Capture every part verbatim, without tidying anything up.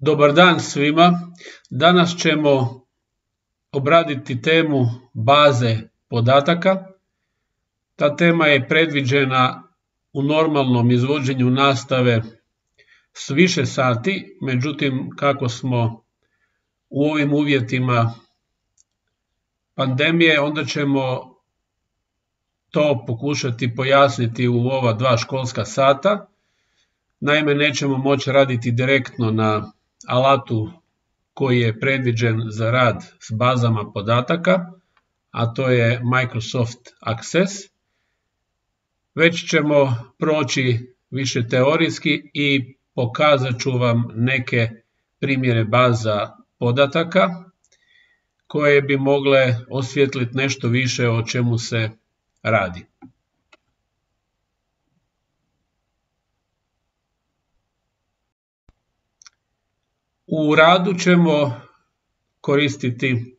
Dobar dan svima. Danas ćemo obraditi temu baze podataka. Ta tema je predviđena u normalnom izvođenju nastave s više sati, međutim kako smo u ovim uvjetima pandemije, onda ćemo to pokušati pojasniti u ova dva školska sata. Naime, nećemo moći raditi direktno na alatu koji je predviđen za rad s bazama podataka, a to je Microsoft Access, već ćemo proći više teorijski i pokazat ću vam neke primjere baza podataka koje bi mogle osvijetliti nešto više o čemu se radi. U radu ćemo koristiti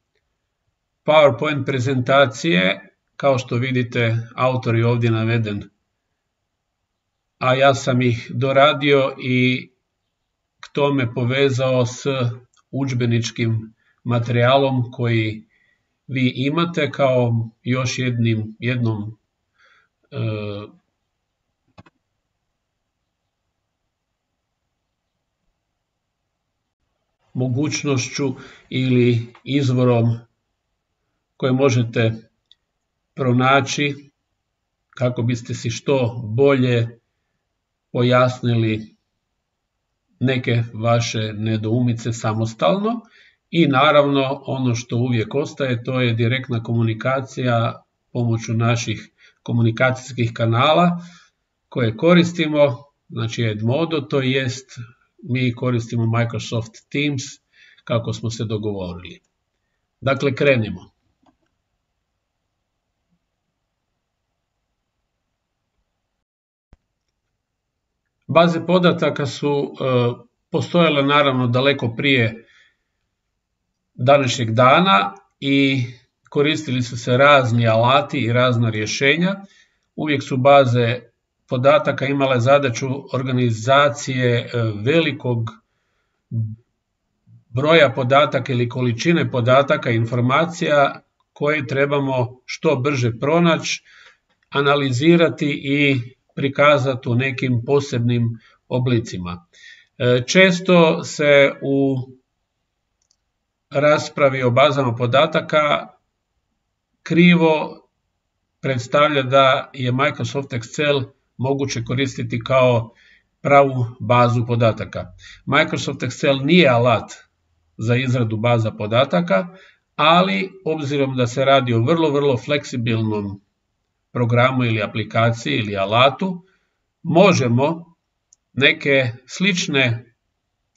PowerPoint prezentacije, kao što vidite autor je ovdje naveden, a ja sam ih doradio i k tome povezao s udžbeničkim materijalom koji vi imate kao još jednim, jednom e, mogućnošću ili izvorom koje možete pronaći kako biste si što bolje pojasnili neke vaše nedoumice samostalno. I naravno ono što uvijek ostaje, to je direktna komunikacija pomoću naših komunikacijskih kanala koje koristimo, znači Edmodo, to jest mi koristimo Microsoft Teams kako smo se dogovorili. Dakle, krenimo. Baze podataka su e, postojale naravno daleko prije današnjeg dana i koristili su se razni alati i razna rješenja. Uvijek su baze podataka imale zadaću organizacije velikog broja podataka ili količine podataka, informacija koje trebamo što brže pronaći, analizirati i prikazati u nekim posebnim oblicima. Često se u raspravi o bazama podataka krivo predstavlja da je Microsoft Excel moguće koristiti kao pravu bazu podataka. Microsoft Excel nije alat za izradu baza podataka, ali obzirom da se radi o vrlo, vrlo fleksibilnom programu ili aplikaciji ili alatu, možemo neke slične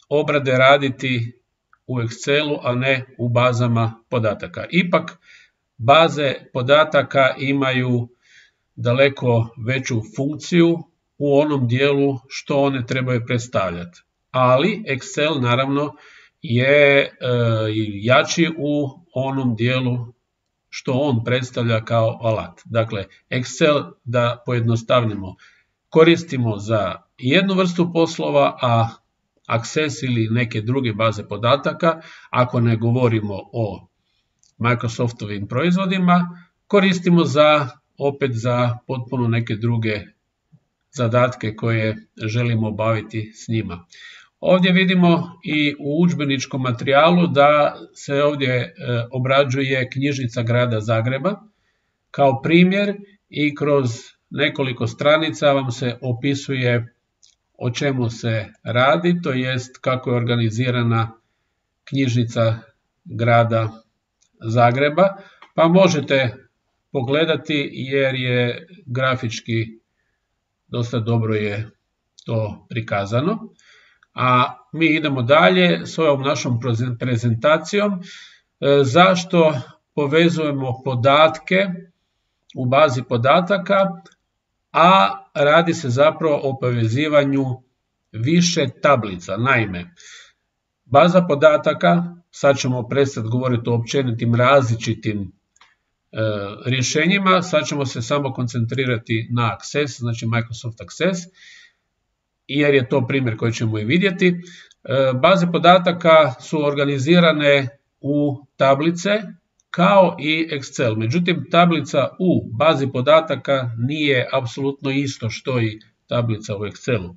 obrade raditi u Excelu, a ne u bazama podataka. Ipak, baze podataka imaju daleko veću funkciju u onom dijelu što one trebaju predstavljati. Ali Excel naravno je e, jači u onom dijelu što on predstavlja kao alat. Dakle, Excel, da pojednostavnimo, koristimo za jednu vrstu poslova, a Access ili neke druge baze podataka, ako ne govorimo o Microsoftovim proizvodima, koristimo za opet za potpuno neke druge zadatke koje želimo obaviti s njima. Ovdje vidimo i u udžbeničkom materijalu da se ovdje obrađuje knjižnica grada Zagreba kao primjer i kroz nekoliko stranica vam se opisuje o čemu se radi, to jest kako je organizirana knjižnica grada Zagreba, pa možete pogledati jer je grafički dosta dobro je to prikazano. A mi idemo dalje s ovom našom prezentacijom. Zašto povezujemo podatke u bazi podataka, a radi se zapravo o povezivanju više tablica. Naime, baza podataka, sad ćemo prestati govoriti o općenitim različitim e, rješenjima, sad ćemo se samo koncentrirati na Access, znači Microsoft Access, jer je to primjer koji ćemo i vidjeti. Baze podataka su organizirane u tablice kao i Excel. Međutim, tablica u bazi podataka nije apsolutno isto što i tablica u Excelu.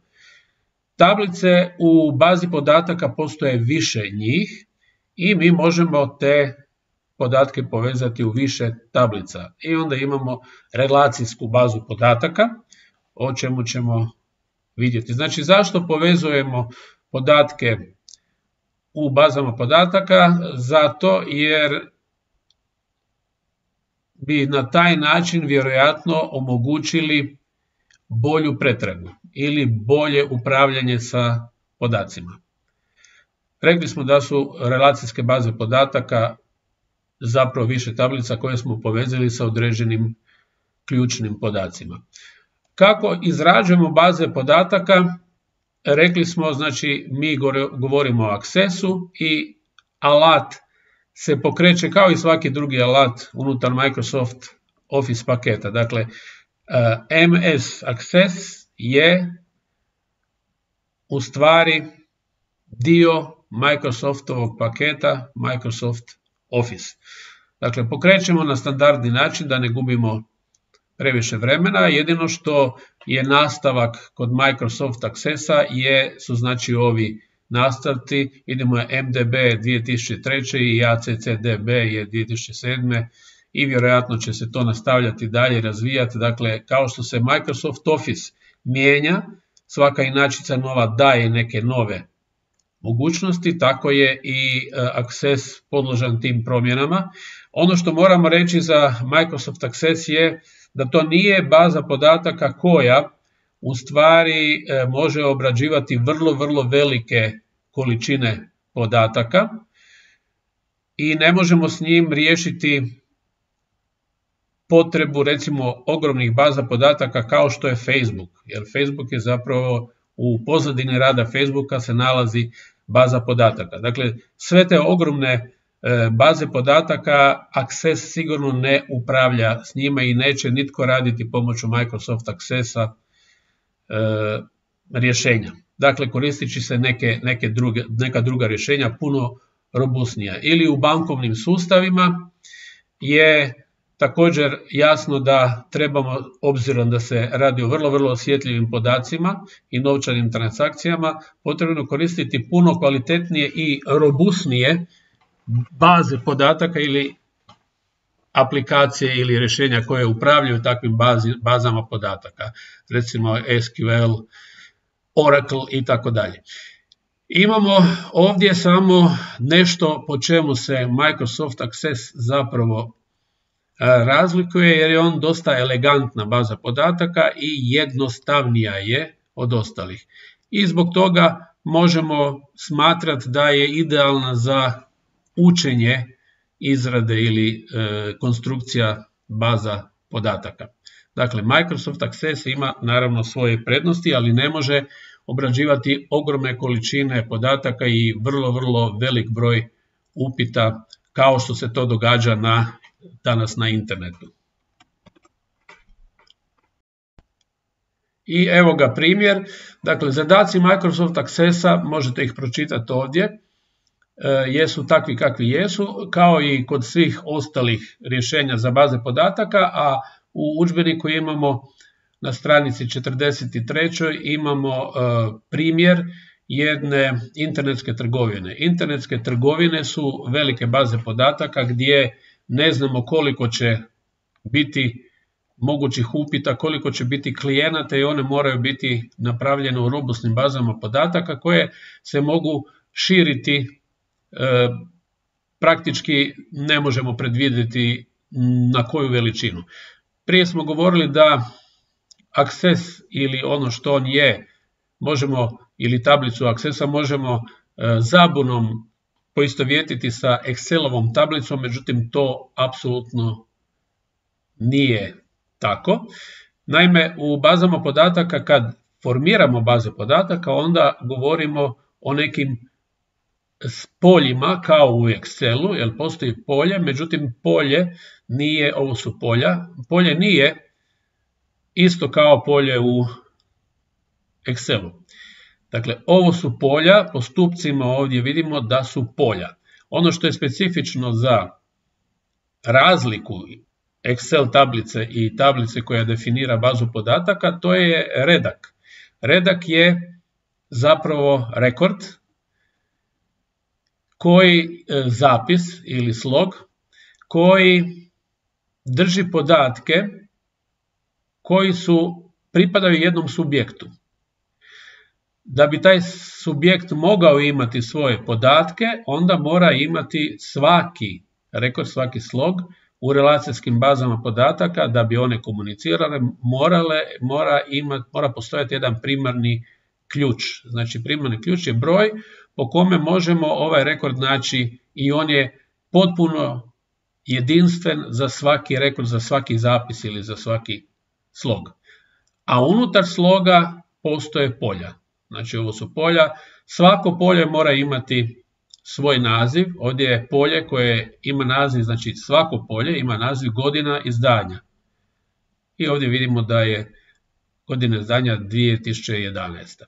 Tablice u bazi podataka postoje više njih i mi možemo te podatke povezati u više tablica. I onda imamo relacijsku bazu podataka, o čemu ćemo vidjeti. Znači, zašto povezujemo podatke u bazama podataka? Zato jer bi na taj način vjerojatno omogućili bolju pretragu ili bolje upravljanje sa podacima. Rekli smo da su relacijske baze podataka zapravo više tablica koje smo povezali sa određenim ključnim podacima. Kako izrađujemo baze podataka? Rekli smo, znači, mi govorimo o Accessu i alat se pokreće kao i svaki drugi alat unutar Microsoft Office paketa. Dakle, M S Access je u stvari dio Microsoftovog paketa Microsoft Office. Dakle, pokrećemo na standardni način da ne gubimo previše vremena. Jedino što je nastavak kod Microsoft Accessa je, su znači ovi nastavci. Idemo je M D B dvije tisuće treće i A C C D B je dvije tisuće sedme i vjerojatno će se to nastavljati dalje i razvijati. Dakle, kao što se Microsoft Office mijenja, svaka inačica nova daje neke nove mogućnosti, tako je i Access podložan tim promjenama. Ono što moramo reći za Microsoft Access je da to nije baza podataka koja u stvari može obrađivati vrlo, vrlo velike količine podataka i ne možemo s njim riješiti potrebu, recimo, ogromnih baza podataka kao što je Facebook, jer Facebook je zapravo u pozadini rada Facebooka se nalazi baza podataka. Dakle, sve te ogromne baze podataka Access sigurno ne upravlja s njima i neće nitko raditi pomoću Microsoft Accessa e, rješenja. Dakle, koristeći se neke, neke druge, neka druga rješenja puno robustnija. Ili u bankovnim sustavima je također jasno da trebamo, obzirom da se radi o vrlo, vrlo osjetljivim podacima i novčanim transakcijama, potrebno koristiti puno kvalitetnije i robustnije baze podataka ili aplikacije ili rješenja koje upravljaju takvim bazi, bazama podataka, recimo S Q L, Oracle i tako dalje. Imamo ovdje samo nešto po čemu se Microsoft Access zapravo razlikuje, jer je on dosta elegantna baza podataka i jednostavnija je od ostalih. I zbog toga možemo smatrati da je idealna za učenje izrade ili e, konstrukcija baza podataka. Dakle, Microsoft Access ima naravno svoje prednosti, ali ne može obrađivati ogromne količine podataka i vrlo, vrlo velik broj upita kao što se to događa na, danas na internetu. I evo ga primjer. Dakle, zadaci Microsoft Accessa, možete ih pročitati ovdje, jesu takvi kakvi jesu, kao i kod svih ostalih rješenja za baze podataka, a u udžbeniku imamo na stranici četrdeset tri imamo primjer jedne internetske trgovine. Internetske trgovine su velike baze podataka gdje ne znamo koliko će biti mogućih upita, koliko će biti klijenata i one moraju biti napravljene u robustnim bazama podataka koje se mogu širiti. E, praktički ne možemo predvidjeti na koju veličinu. Prije smo govorili da Access ili ono što on je, možemo, ili tablicu Accessa možemo e, zabunom poistovjetiti sa Excelovom tablicom, međutim to apsolutno nije tako. Naime, u bazama podataka kad formiramo baze podataka onda govorimo o nekim s poljima kao u Excelu, jer postoji polje, međutim polje nije, ovo su polja, polje nije isto kao polje u Excelu. Dakle, ovo su polja, po stupcima ovdje vidimo da su polja. Ono što je specifično za razliku Excel tablice i tablice koja definira bazu podataka, to je redak. Redak je zapravo rekord, koji zapis ili slog, koji drži podatke koji su pripadaju jednom subjektu. Da bi taj subjekt mogao imati svoje podatke, onda mora imati svaki rekord, svaki slog u relacijskim bazama podataka. Da bi one komunicirale, morale, mora, imati, mora postojati jedan primarni ključ. Znači, primarni ključ je broj po kome možemo ovaj rekord naći i on je potpuno jedinstven za svaki rekord, za svaki zapis ili za svaki slog. A unutar sloga postoje polja. Znači, ovo su polja. Svako polje mora imati svoj naziv. Ovdje je polje koje ima naziv, znači svako polje ima naziv godina izdanja. I ovdje vidimo da je godina izdanja dvije tisuće jedanaesta.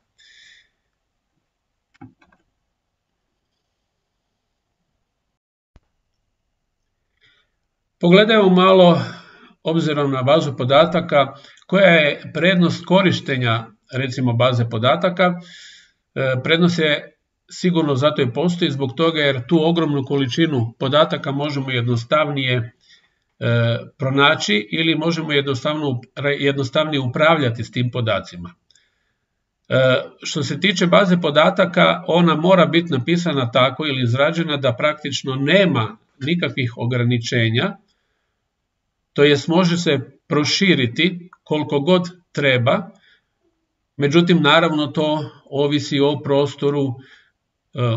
Pogledajmo malo, obzirom na bazu podataka, koja je prednost korištenja, recimo, baze podataka. Prednost je sigurno zato i postoji zbog toga jer tu ogromnu količinu podataka možemo jednostavnije pronaći ili možemo jednostavnije upravljati s tim podacima. Što se tiče baze podataka, ona mora biti napisana tako ili izrađena da praktično nema nikakvih ograničenja, to jest može se proširiti koliko god treba, međutim naravno to ovisi o prostoru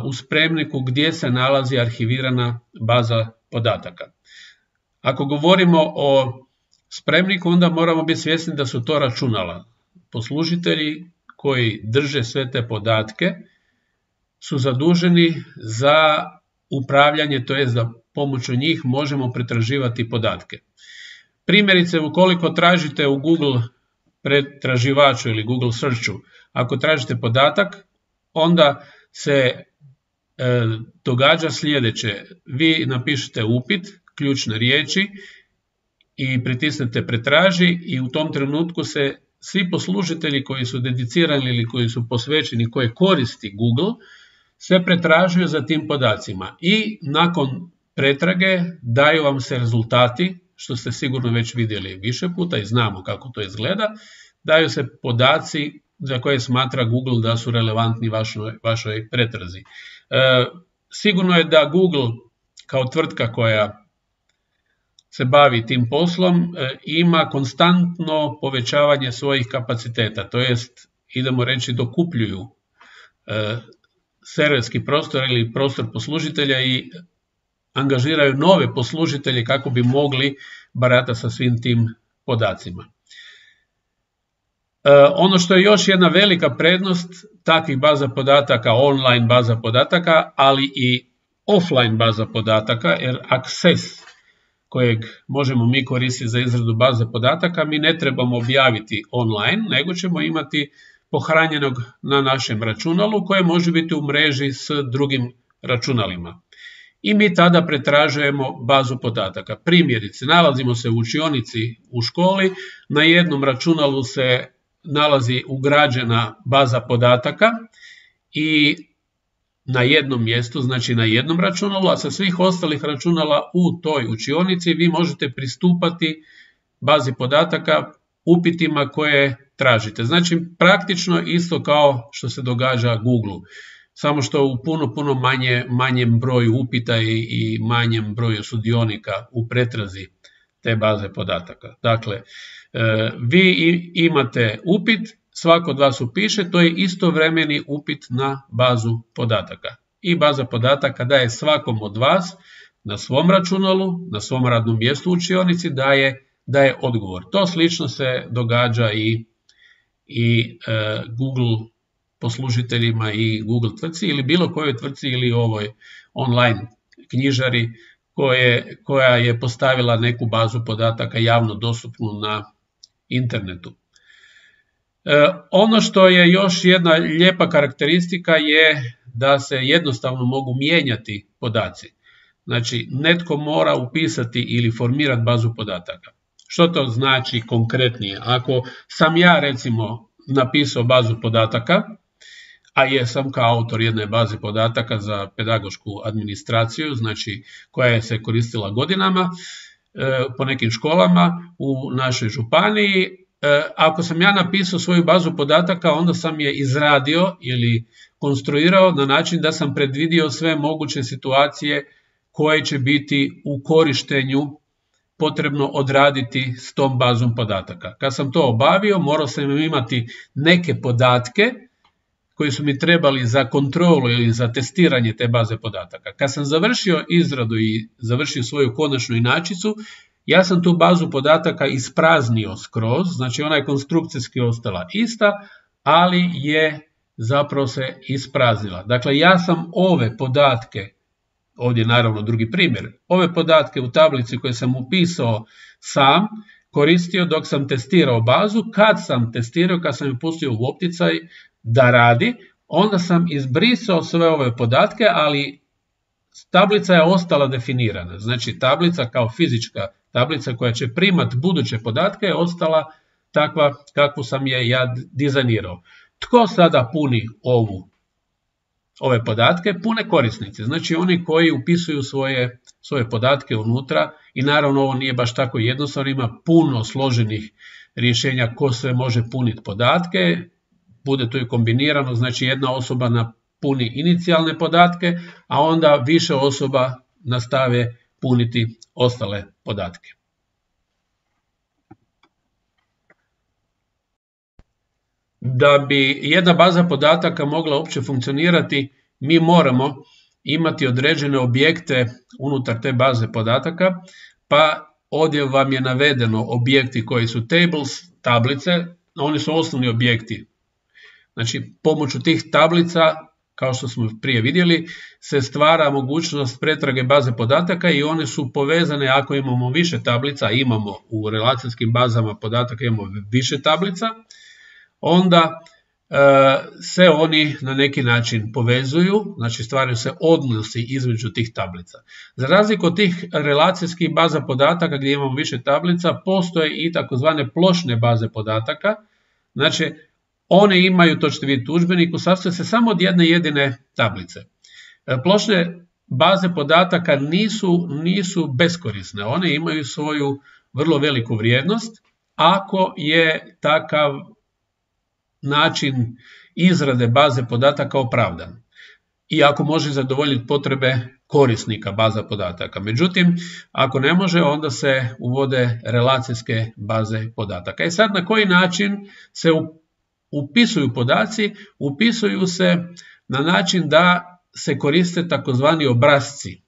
u spremniku gdje se nalazi arhivirana baza podataka. Ako govorimo o spremniku, onda moramo biti svjesni da su to računala. Poslužitelji koji drže sve te podatke su zaduženi za upravljanje, to jest da pomoću njih možemo pretraživati podatke. Primjerice, ukoliko tražite u Google pretraživaču ili Google Searchu, ako tražite podatak, onda se e, događa sljedeće. Vi napišete upit, ključne riječi i pritisnete pretraži i u tom trenutku se svi poslužitelji koji su dedicirani ili koji su posvećeni, koje koristi Google, sve pretražuju za tim podacima i nakon pretrage daju vam se rezultati, što ste sigurno već vidjeli više puta i znamo kako to izgleda, daju se podaci za koje smatra Google da su relevantni vašoj, vašoj pretrazi. E, sigurno je da Google kao tvrtka koja se bavi tim poslom e, ima konstantno povećavanje svojih kapaciteta, to jest, idemo reći, dokupljuju e, serverski prostor ili prostor poslužitelja i angažiraju nove poslužitelje kako bi mogli baratati sa svim tim podacima. E, ono što je još jedna velika prednost takvih baza podataka, online baza podataka, ali i offline baza podataka, jer Access kojeg možemo mi koristiti za izradu baze podataka, mi ne trebamo objaviti online, nego ćemo imati pohranjenog na našem računalu koje može biti u mreži s drugim računalima. I mi tada pretražujemo bazu podataka. Primjerice, nalazimo se u učionici u školi, na jednom računalu se nalazi ugrađena baza podataka i na jednom mjestu, znači na jednom računalu, a sa svih ostalih računala u toj učionici vi možete pristupati bazi podataka upitima koje tražite. Znači praktično isto kao što se događa Google, samo što u puno, puno manje, manjem broju upita i, i manjem broju sudionika u pretrazi te baze podataka. Dakle, e, vi imate upit, svako od vas upiše, to je istovremeni upit na bazu podataka. I baza podataka daje svakom od vas na svom računalu, na svom radnom mjestu u učionici daje, daje odgovor. To slično se događa i, i e, Google poslužiteljima i Google tvrtci ili bilo kojoj tvrtci ili ovoj online knjižari koje, koja je postavila neku bazu podataka javno dostupnu na internetu. Ono što je još jedna lijepa karakteristika je da se jednostavno mogu mijenjati podaci. Znači, netko mora upisati ili formirati bazu podataka. Što to znači konkretnije? Ako sam ja, recimo, napisao bazu podataka, a jesam kao autor jedne baze podataka za pedagošku administraciju, znači koja je se koristila godinama po nekim školama u našoj županiji. Ako sam ja napisao svoju bazu podataka, onda sam je izradio ili konstruirao na način da sam predvidio sve moguće situacije koje će biti u korištenju potrebno odraditi s tom bazom podataka. Kad sam to obavio, morao sam imati neke podatke koji su mi trebali za kontrolu ili za testiranje te baze podataka. Kad sam završio izradu i završio svoju konačnu inačicu, ja sam tu bazu podataka ispraznio skroz, znači ona je konstrukcijski ostala ista, ali je zapravo se ispraznila. Dakle, ja sam ove podatke, ovdje je naravno drugi primjer, ove podatke u tablici koje sam upisao sam, koristio dok sam testirao bazu. Kad sam testirao, kad sam je pustio u opticaj da radi, onda sam izbrisao sve ove podatke, ali tablica je ostala definirana. Znači, tablica kao fizička tablica koja će primat buduće podatke je ostala takva kakvu sam je ja dizajnirao. Tko sada puni ovu, ove podatke? Pune korisnici. Znači, oni koji upisuju svoje, svoje podatke unutra i naravno ovo nije baš tako jednostavno, ima puno složenih rješenja ko sve može puniti podatke. Bude to i kombinirano, znači jedna osoba napuni inicijalne podatke, a onda više osoba nastave puniti ostale podatke. Da bi jedna baza podataka mogla uopće funkcionirati, mi moramo imati određene objekte unutar te baze podataka, pa ovdje vam je navedeno objekti koji su tables, tablice, oni su osnovni objekti. Znači, pomoću tih tablica, kao što smo prije vidjeli, se stvara mogućnost pretrage baze podataka i one su povezane ako imamo više tablica, imamo u relacijskim bazama podataka imamo više tablica, onda e, se oni na neki način povezuju, znači stvaraju se odnosi između tih tablica. Za razliku od tih relacijskih baza podataka gdje imamo više tablica, postoje i takozvane plošne baze podataka, znači one imaju, to ćete vidjeti u udžbeniku, sastoje se samo od jedne jedine tablice. Plošne baze podataka nisu, nisu beskorisne, one imaju svoju vrlo veliku vrijednost ako je takav način izrade baze podataka opravdan i ako može zadovoljiti potrebe korisnika baza podataka. Međutim, ako ne može, onda se uvode relacijske baze podataka. I sad na koji način se upisuju podaci? Upisuju se na način da se koriste takozvani obrasci,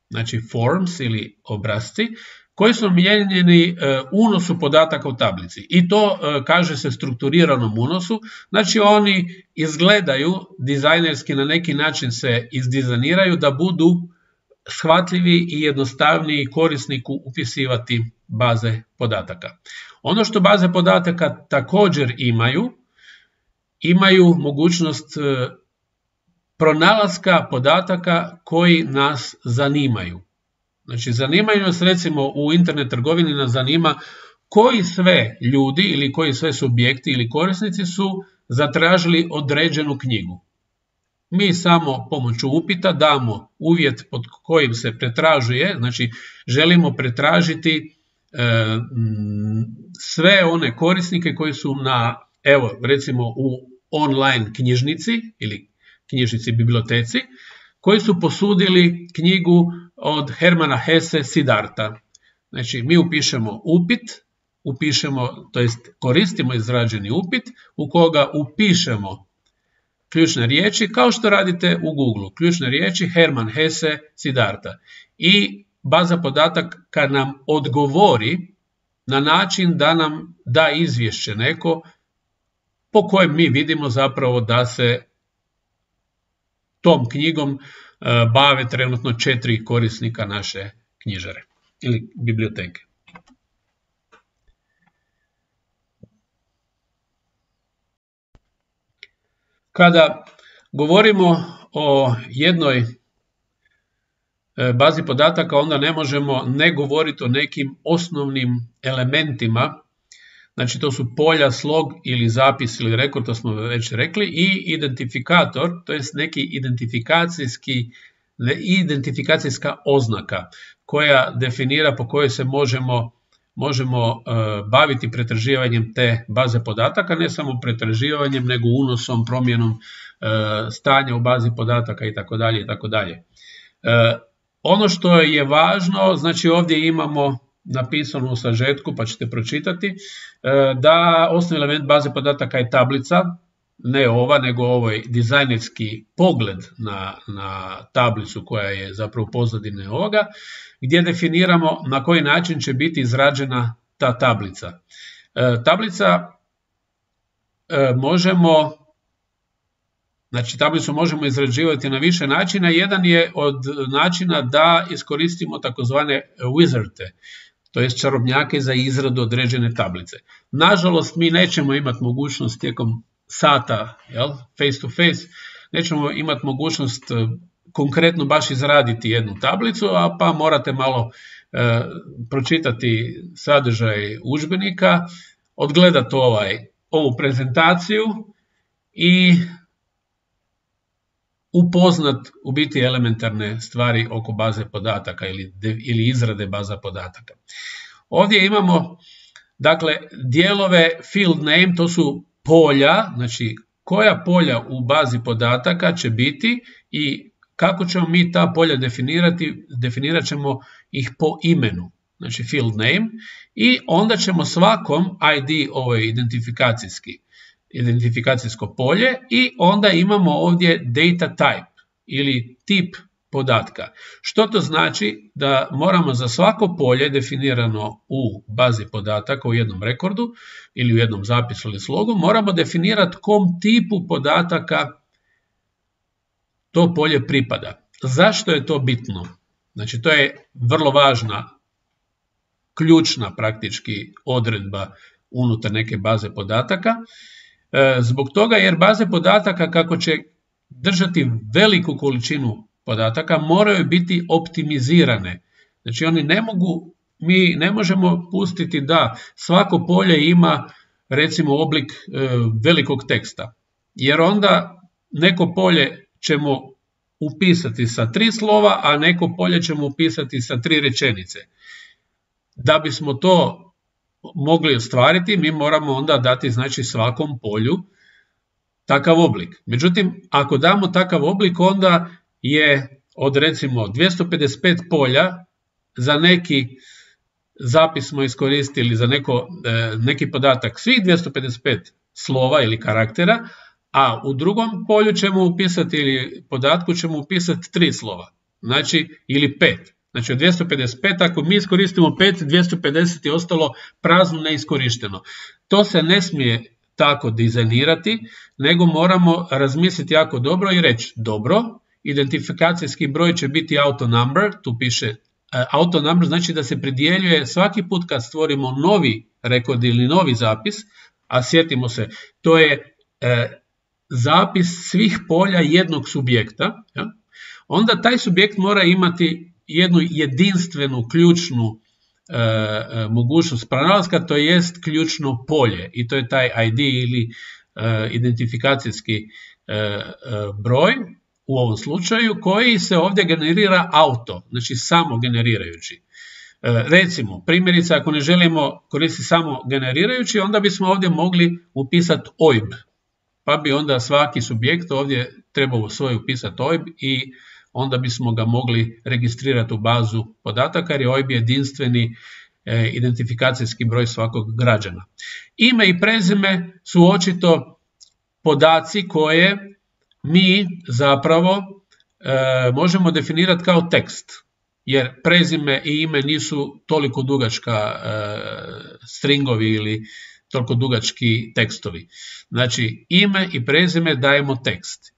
znači forms ili obrasci, koji su namijenjeni unosu podataka u tablici. I to kaže se strukturiranom unosu, znači oni izgledaju dizajnerski, na neki način se izdizajniraju da budu shvatljivi i jednostavniji korisniku upisivati baze podataka. Ono što baze podataka također imaju, imaju mogućnost pronalaska podataka koji nas zanimaju. Znači, zanimaju nas, recimo u internet trgovini nas zanima koji sve ljudi ili koji sve subjekti ili korisnici su zatražili određenu knjigu. Mi samo pomoću upita damo uvjet pod kojim se pretražuje, znači želimo pretražiti e, sve one korisnike koji su na, evo recimo u online knjižnici ili knjižnici biblioteci, koji su posudili knjigu od Hermana Hesse Siddharta. Znači, mi upišemo upit, upišemo, to jest koristimo izrađeni upit u koga upišemo ključne riječi, kao što radite u Google. Ključne riječi Herman Hesse Siddharta. I baza podataka nam odgovori na način da nam da izvješće neko po kojem mi vidimo zapravo da se tom knjigom bave trenutno četiri korisnika naše knjižare ili biblioteke. Kada govorimo o jednoj bazi podataka, onda ne možemo ne govoriti o nekim osnovnim elementima. Znači to su polja, slog ili zapis ili rekord, to smo već rekli, i identifikator, to je neki identifikacijski, identifikacijska oznaka koja definira po kojoj se možemo, možemo uh, baviti pretraživanjem te baze podataka, ne samo pretraživanjem, nego unosom, promjenom uh, stanja u bazi podataka itd. itd. Uh, ono što je važno, znači ovdje imamo napisano u sažetku, pa ćete pročitati, da osnovni element baze podataka je tablica, ne ova, nego ovaj dizajnerski pogled na, na tablicu koja je zapravo pozadine ovoga, gdje definiramo na koji način će biti izrađena ta tablica. Tablica možemo, znači tablicu možemo izrađivati na više načina. Jedan je od načina da iskoristimo takozvane wizarde, to jest čarobnjake za izradu određene tablice. Nažalost, mi nećemo imati mogućnost tijekom sata, jel, face to face, nećemo imati mogućnost konkretno baš izraditi jednu tablicu, a pa morate malo e, pročitati sadržaj udžbenika, odgledati ovaj, ovu prezentaciju i upoznat u biti elementarne stvari oko baze podataka ili, ili izrade baza podataka. Ovdje imamo, dakle, dijelove field name, to su polja, znači koja polja u bazi podataka će biti i kako ćemo mi ta polja definirati, definirat ćemo ih po imenu, znači field name, i onda ćemo svakom I D, ovo je identifikacijski, identifikacijsko polje, i onda imamo ovdje data type ili tip podatka. Što to znači? Da moramo za svako polje definirano u bazi podataka u jednom rekordu ili u jednom zapisu ili slogu, moramo definirati kom tipu podataka to polje pripada. Zašto je to bitno? Znači to je vrlo važna, ključna praktički odredba unutar neke baze podataka. Zbog toga jer baze podataka, kako će držati veliku količinu podataka, moraju biti optimizirane. Znači oni ne mogu, mi ne možemo pustiti da svako polje ima recimo oblik e, velikog teksta, jer onda neko polje ćemo upisati sa tri slova, a neko polje ćemo upisati sa tri rečenice. Da bismo to mogli ostvariti, mi moramo onda dati, znači, svakom polju takav oblik. Međutim, ako damo takav oblik, onda je od recimo dvjesto pedeset pet polja za neki zapis smo iskoristili, za neko, neki podatak svih dvjesto pedeset pet slova ili karaktera, a u drugom polju ćemo upisati ili podatku ćemo upisati tri slova, znači ili pet. Znači od dvjesto pedeset pet, ako mi iskoristimo pet, dvjesto pedeset je ostalo prazno, neiskorišteno. To se ne smije tako dizajnirati, nego moramo razmisliti jako dobro i reći, dobro, identifikacijski broj će biti auto number, tu piše auto number, znači da se pridjeljuje svaki put kad stvorimo novi rekord ili novi zapis, a sjetimo se, to je e, zapis svih polja jednog subjekta, ja? Onda taj subjekt mora imati jednu jedinstvenu ključnu e, mogućnost pronalaska, to jest ključno polje, i to je taj I D ili e, identifikacijski e, e, broj u ovom slučaju, koji se ovdje generira auto, znači samo generirajući. E, recimo, primjerice, ako ne želimo koristiti samo generirajući, onda bismo ovdje mogli upisati O I B, pa bi onda svaki subjekt ovdje trebao svoj upisati O I B i onda bismo ga mogli registrirati u bazu podataka, jer je O I B jedinstveni e, identifikacijski broj svakog građana. Ime i prezime su očito podaci koje mi zapravo e, možemo definirati kao tekst, jer prezime i ime nisu toliko dugačka e, stringovi ili toliko dugački tekstovi. Znači ime i prezime dajemo tekst.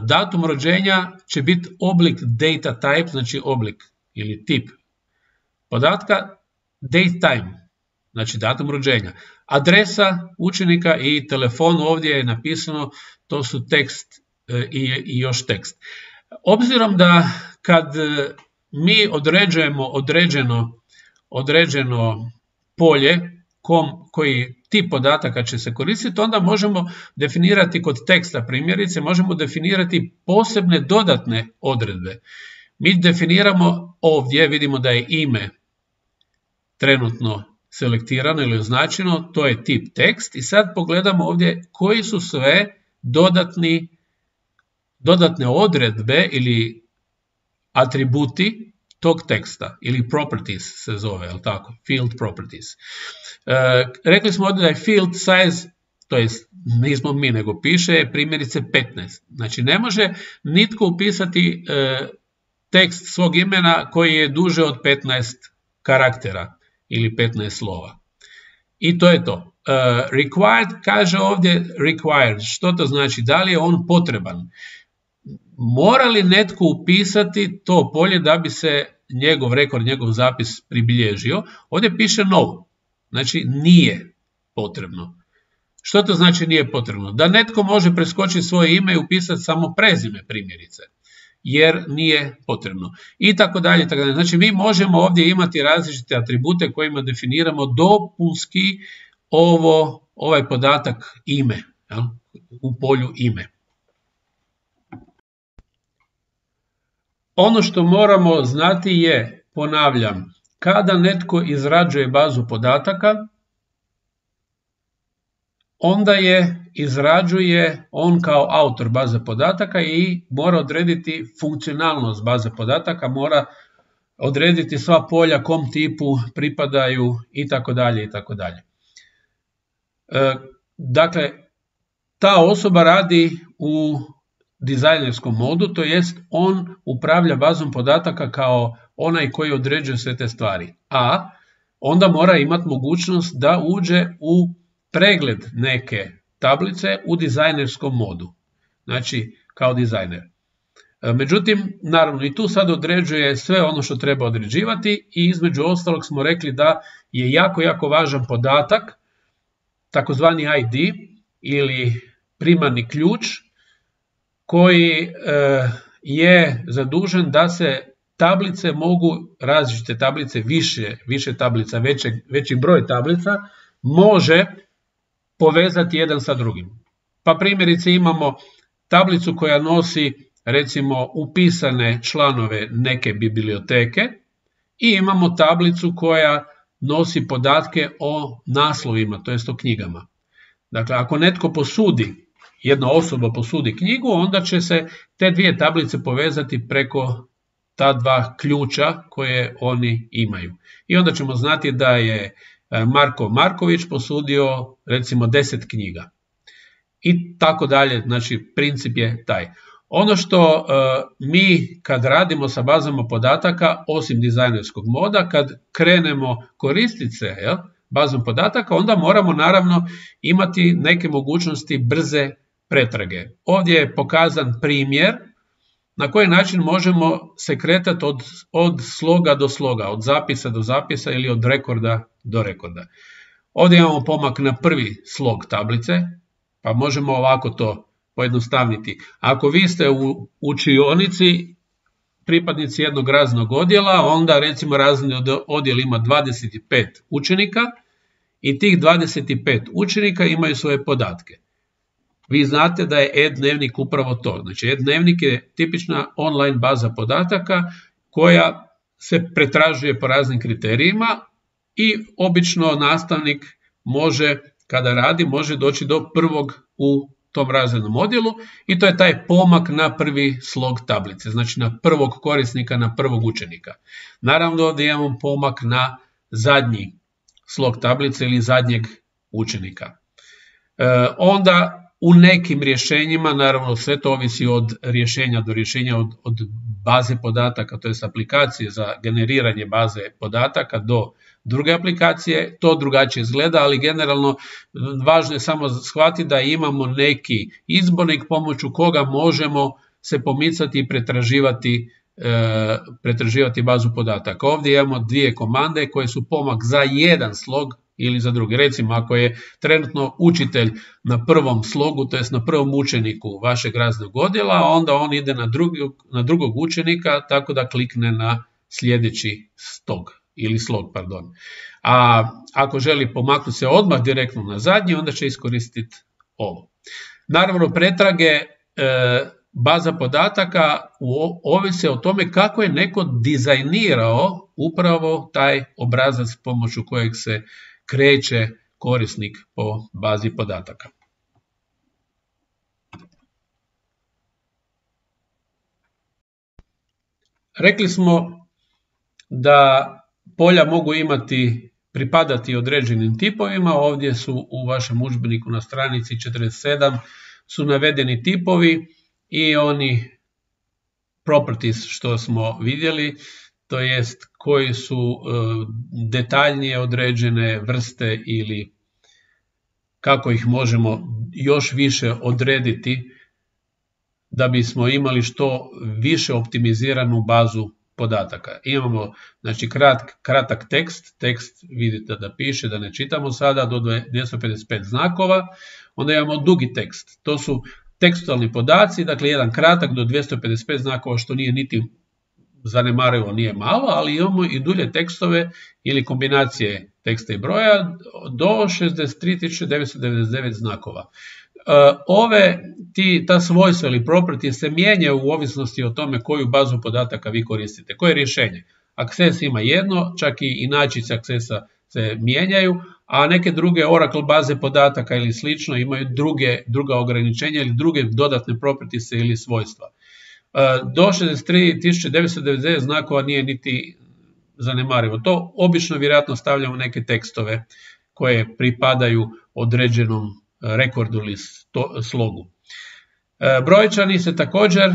Datum rođenja će biti oblik data type, znači oblik ili tip podatka, date time. znači datum rođenja. Adresa učenika i telefon ovdje je napisano, to su tekst i, i još tekst. Obzirom da kad mi određujemo određeno, određeno polje kom, koji tip podataka će se koristiti, onda možemo definirati kod teksta primjerice, možemo definirati posebne dodatne odredbe. Mi definiramo ovdje, vidimo da je ime trenutno selektirano ili označeno, to je tip tekst i sad pogledamo ovdje koji su sve dodatni, dodatne odredbe ili atributi tog teksta ili properties se zove, je li tako? Field properties. E, rekli smo ovdje da je field size, to je nismo mi nego piše, primjerice petnaest. Znači ne može nitko upisati e, tekst svog imena koji je duže od petnaest karaktera ili petnaest slova. I to je to. Uh, required kaže ovdje required. Što to znači? Da li je on potreban? Mora li netko upisati to polje da bi se njegov rekord, njegov zapis pribilježio? Ovdje piše no. Znači nije potrebno. Što to znači nije potrebno? Da netko može preskočiti svoje ime i upisati samo prezime primjerice, jer nije potrebno. I tako dalje, tako dalje. Znači mi možemo ovdje imati različite atribute kojima definiramo dopunski ovo, ovaj podatak ime, jel? U polju ime. Ono što moramo znati je, ponavljam, kada netko izrađuje bazu podataka, onda je izrađuje on kao autor baze podataka i mora odrediti funkcionalnost baze podataka, mora odrediti sva polja kom tipu pripadaju i tako dalje i tako dalje. Dakle, ta osoba radi u dizajnerskom modu, to jest on upravlja bazom podataka kao onaj koji određuje sve te stvari, a onda mora imati mogućnost da uđe u pregled neke tablice u dizajnerskom modu, znači kao dizajner. Međutim, naravno i tu sad određuje sve ono što treba određivati i između ostalog smo rekli da je jako, jako važan podatak, takozvani I D ili primarni ključ, koji je zadužen da se tablice mogu, različite tablice, više, više tablica, veće, veći broj tablica, može povezati jedan sa drugim. Pa primjerice imamo tablicu koja nosi recimo upisane članove neke biblioteke i imamo tablicu koja nosi podatke o naslovima, to jest o knjigama. Dakle, ako netko posudi, jedna osoba posudi knjigu, onda će se te dvije tablice povezati preko ta dva ključa koje oni imaju. I onda ćemo znati da je Marko Marković posudio recimo deset knjiga. I tako dalje, znači princip je taj. Ono što uh, mi kad radimo sa bazama podataka, osim dizajnerskog moda, kad krenemo koristiti se jel, bazom podataka, onda moramo naravno imati neke mogućnosti brze pretrage. Ovdje je pokazan primjer na koji način možemo se kretati od, od sloga do sloga, od zapisa do zapisa ili od rekorda do rekorda. Ovdje imamo pomak na prvi slog tablice, pa možemo ovako to pojednostavniti. Ako vi ste u učionici pripadnici jednog razrednog odjela, onda recimo razredni odjel ima dvadeset pet učenika i tih dvadeset pet učenika imaju svoje podatke. Vi znate da je e-dnevnik upravo to. Znači e-dnevnik je tipična online baza podataka koja se pretražuje po raznim kriterijima i obično nastavnik može, kada radi, može doći do prvog u tom razrednom odjelu i to je taj pomak na prvi slog tablice, znači na prvog korisnika, na prvog učenika. Naravno ovdje imamo pomak na zadnji slog tablice ili zadnjeg učenika. E, onda u nekim rješenjima, naravno sve to ovisi od rješenja do rješenja, od, od baze podataka, to je aplikacije za generiranje baze podataka do druge aplikacije, to drugačije izgleda, ali generalno važno je samo shvatiti da imamo neki izbornik pomoću koga možemo se pomicati i pretraživati, pretraživati bazu podataka. Ovdje imamo dvije komande koje su pomak za jedan slog ili za drugi. Recimo, ako je trenutno učitelj na prvom slogu, to jest na prvom učeniku vašeg razrednog odjela, onda on ide na drugog, na drugog učenika, tako da klikne na sljedeći stog ili slog, pardon. A ako želi pomaknuti se odmah direktno na zadnji, onda će iskoristiti ovo. Naravno, pretrage e, baza podataka ovise o tome kako je neko dizajnirao upravo taj obrazac pomoću kojeg se kreće korisnik po bazi podataka. Rekli smo da polja mogu imati, pripadati određenim tipovima. Ovdje su u vašem udžbeniku na stranici četrdeset sedam su navedeni tipovi i oni properties što smo vidjeli, to jest koji su uh, detaljnije određene vrste ili kako ih možemo još više odrediti da bismo imali što više optimiziranu bazu podataka. Imamo znači, krat, kratak tekst, tekst vidite da piše, da ne čitamo sada, do dvjesto pedeset pet znakova, onda imamo dugi tekst, to su tekstualni podaci, dakle jedan kratak do dvjesto pedeset pet znakova, što nije niti zanemarivo, nije malo, ali imamo i dulje tekstove ili kombinacije teksta i broja do šezdeset tri tisuće devetsto devedeset devet znakova. Ove, ti, ta svojstva ili property se mijenjaju u ovisnosti o tome koju bazu podataka vi koristite, koje rješenje. Access ima jedno, čak i inačice Accessa se mijenjaju, a neke druge Oracle baze podataka ili slično imaju druge, druga ograničenja ili druge dodatne propertise ili svojstva. Do šezdeset tri tisuće devetsto devedeset devet znakova nije niti zanemarivo. To obično vjerojatno stavljamo neke tekstove koje pripadaju određenom rekordu ili slogu. Brojčani se također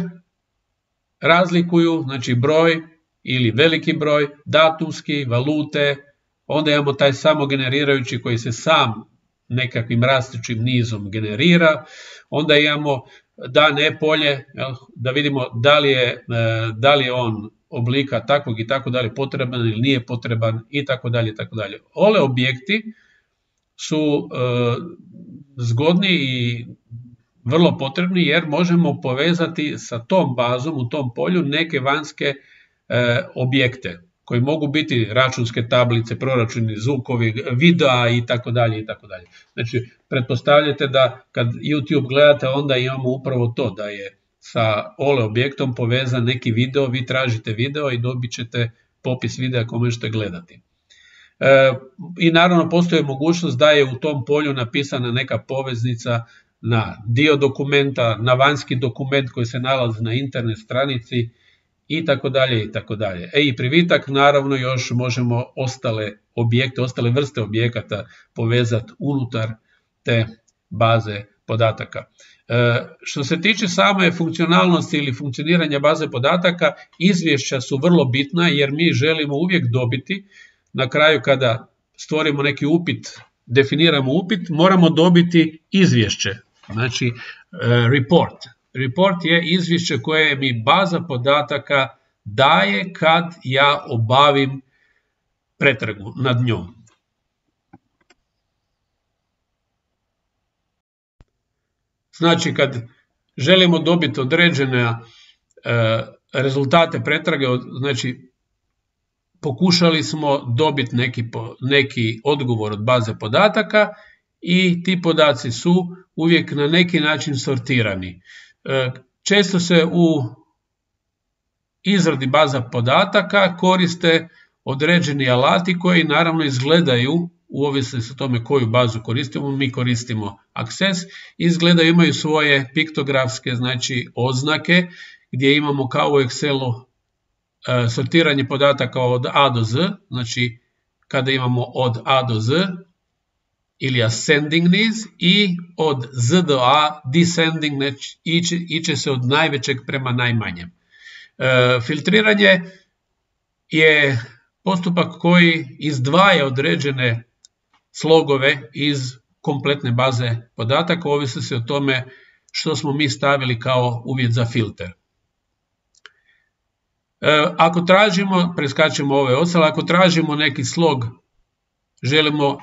razlikuju, znači broj ili veliki broj, datumski, valute, onda imamo taj samogenerirajući koji se sam nekakvim rastućim nizom generira, onda imamo da ne polje, da vidimo da li je, da li je on oblika takvog i tako dalje potreban ili nije potreban i tako dalje i tako dalje. Ove objekti su e, zgodni i vrlo potrebni jer možemo povezati sa tom bazom u tom polju neke vanjske e, objekte koji mogu biti računske tablice, proračuni, zvukovi, videa i tako dalje i tako dalje. Znači, pretpostavljate da kad YouTube gledate, onda imamo upravo to, da je sa ole objektom povezan neki video, vi tražite video i dobit ćete popis videa koje možete gledati. E, I naravno postoji mogućnost da je u tom polju napisana neka poveznica na dio dokumenta, na vanjski dokument koji se nalazi na internet stranici i tako dalje i tako dalje. E i privitak, naravno još možemo ostale objekte, ostale vrste objekata povezati unutar te baze podataka. E, što se tiče same funkcionalnosti ili funkcioniranja baze podataka, izvješća su vrlo bitna jer mi želimo uvijek dobiti, na kraju kada stvorimo neki upit, definiramo upit, moramo dobiti izvješće, znači e, report. Report je izvješće koje mi baza podataka daje kad ja obavim pretragu nad njom. Znači, kad želimo dobiti određene e, rezultate pretrage, znači pokušali smo dobiti neki, neki odgovor od baze podataka i ti podaci su uvijek na neki način sortirani. E, često se u izradi baza podataka koriste određeni alati koji naravno izgledaju, u ovisnosti o tome koju bazu koristimo, mi koristimo Access, izgledaju, imaju svoje piktografske, znači oznake, gdje imamo kao u Excelu e, sortiranje podataka od A do Z, znači kada imamo od A do Z, ili ascending niz, i od Z do A descending, znači iće, iće se od najvećeg prema najmanjem. E, filtriranje je postupak koji izdvaja određene slogove iz kompletne baze podataka, ovisi se o tome što smo mi stavili kao uvjet za filter. E, ako tražimo, preskačemo ove ostale, ako tražimo neki slog, želimo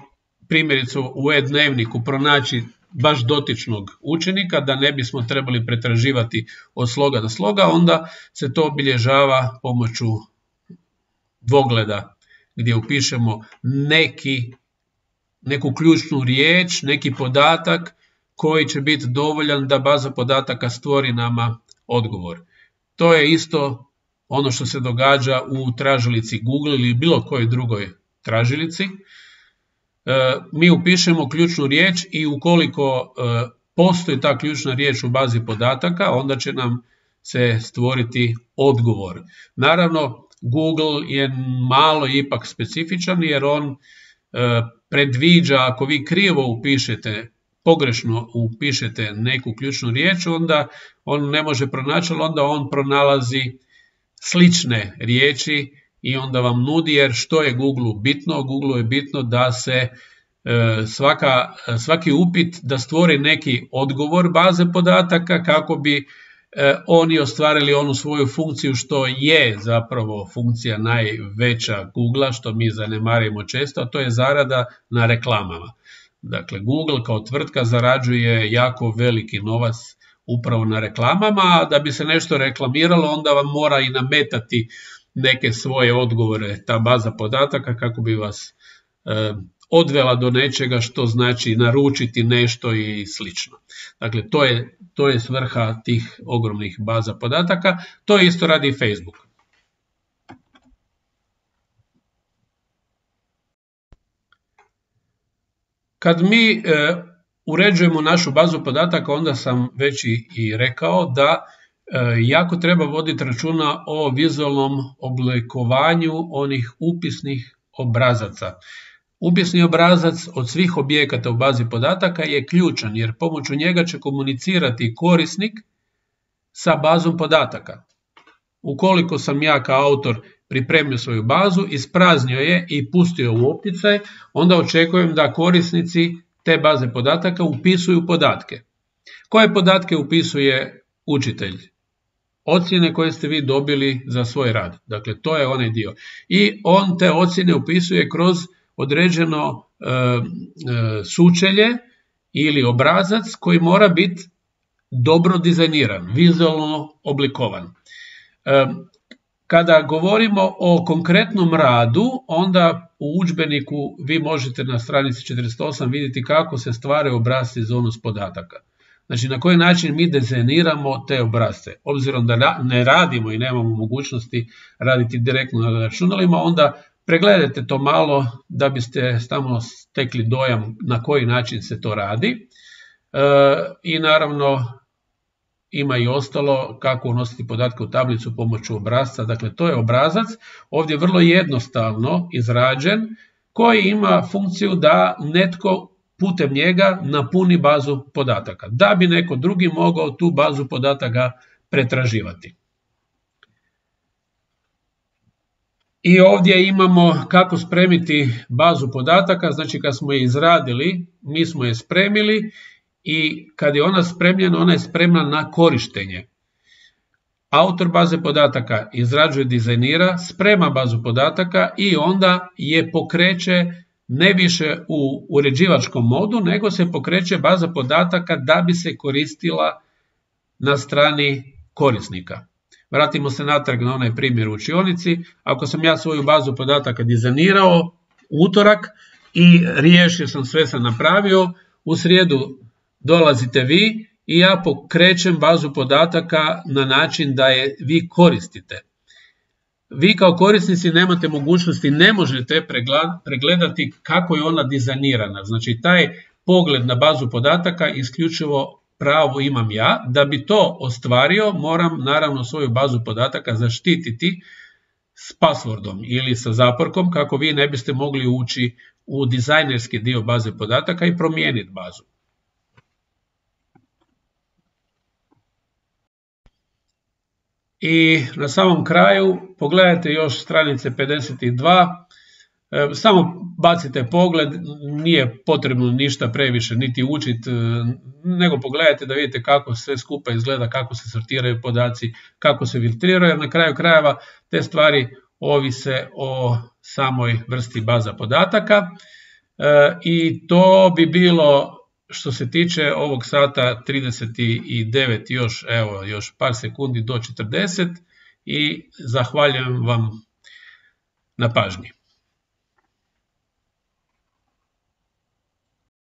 primjerice u e-dnevniku pronaći baš dotičnog učenika, da ne bismo trebali pretraživati od sloga do sloga, onda se to obilježava pomoću dvogleda gdje upišemo neki, neku ključnu riječ, neki podatak koji će biti dovoljan da baza podataka stvori nama odgovor. To je isto ono što se događa u tražilici Google ili bilo kojoj drugoj tražilici. Mi upišemo ključnu riječ i ukoliko postoji ta ključna riječ u bazi podataka, onda će nam se stvoriti odgovor. Naravno, Google je malo ipak specifičan jer on predviđa ako vi krivo upišete, pogrešno upišete neku ključnu riječ, onda on ne može pronaći, onda on pronalazi slične riječi i onda vam nudi, jer što je Google bitno? Google je bitno da se svaka, svaki upit da stvori neki odgovor baze podataka kako bi oni ostvarili onu svoju funkciju što je zapravo funkcija najveća Googlea, što mi zanemarimo često, a to je zarada na reklamama. Dakle, Google kao tvrtka zarađuje jako veliki novac upravo na reklamama, a da bi se nešto reklamiralo, onda vam mora i nametati neke svoje odgovore, ta baza podataka, kako bi vas e, odvela do nečega, što znači naručiti nešto i slično. Dakle, to je, to je svrha tih ogromnih baza podataka. To isto radi i Facebook. Kad mi e, uređujemo našu bazu podataka, onda sam već i, i rekao da e, jako treba voditi računa o vizualnom oblikovanju onih upisnih obrazaca. Upisni obrazac od svih objekata u bazi podataka je ključan jer pomoću njega će komunicirati korisnik sa bazom podataka. Ukoliko sam ja kao autor pripremio svoju bazu, ispraznio je i pustio u opticaj, onda očekujem da korisnici te baze podataka upisuju podatke. Koje podatke upisuje učitelj? Ocjene koje ste vi dobili za svoj rad. Dakle, to je onaj dio. I on te ocjene upisuje kroz određeno e, e, sučelje ili obrazac koji mora biti dobro dizajniran, vizualno oblikovan. E, kada govorimo o konkretnom radu, onda u udžbeniku vi možete na stranici četrdeset osam vidjeti kako se stvaraju obrasci za unos podataka. Znači, na koji način mi dizajniramo te obrasce. Obzirom da ne radimo i nemamo mogućnosti raditi direktno na računalima, onda pregledajte to malo da biste samo stekli dojam na koji način se to radi. E, I naravno ima i ostalo kako unositi podatke u tablicu pomoću obrazca. Dakle, to je obrazac, ovdje vrlo jednostavno izrađen, koji ima funkciju da netko putem njega napuni bazu podataka, da bi neko drugi mogao tu bazu podataka pretraživati. I ovdje imamo kako spremiti bazu podataka, znači kad smo je izradili, mi smo je spremili i kad je ona spremljena, ona je spremna na korištenje. Autor baze podataka izrađuje, dizajnira, sprema bazu podataka i onda je pokreće ne više u uređivačkom modu, nego se pokreće baza podataka da bi se koristila na strani korisnika. Vratimo se natrag na onaj primjer u učionici. Ako sam ja svoju bazu podataka dizajnirao utorak i riješio sam, sve sam napravio, u srijedu dolazite vi i ja pokrećem bazu podataka na način da je vi koristite. Vi kao korisnici nemate mogućnosti, ne možete pregledati kako je ona dizajnirana. Znači, taj pogled na bazu podataka isključivo pravo imam ja. Da bi to ostvario, moram naravno svoju bazu podataka zaštititi s passwordom ili sa zaporkom kako vi ne biste mogli ući u dizajnerski dio baze podataka i promijeniti bazu. I na samom kraju pogledajte još stranice pedeset dva, samo bacite pogled, nije potrebno ništa previše niti učiti, nego pogledajte da vidite kako sve skupa izgleda, kako se sortiraju podaci, kako se filtriraju, jer na kraju krajeva te stvari ovise o samoj vrsti baza podataka. I to bi bilo što se tiče ovog sata trideset devet, još, evo, još par sekundi do četrdeset i zahvaljujem vam na pažnji.